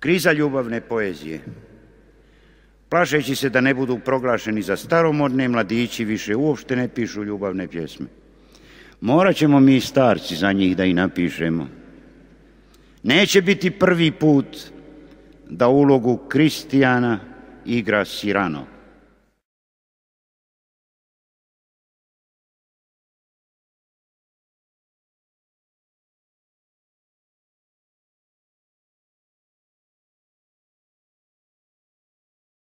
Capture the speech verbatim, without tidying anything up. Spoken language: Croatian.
Kriza ljubavne poezije. Plašeći se da ne budu proglašeni za staromodne, mladići više uopšte ne pišu ljubavne pjesme. Morat ćemo mi starci za njih da ih napišemo. Neće biti prvi put da ulogu Kristijana igra Sirano.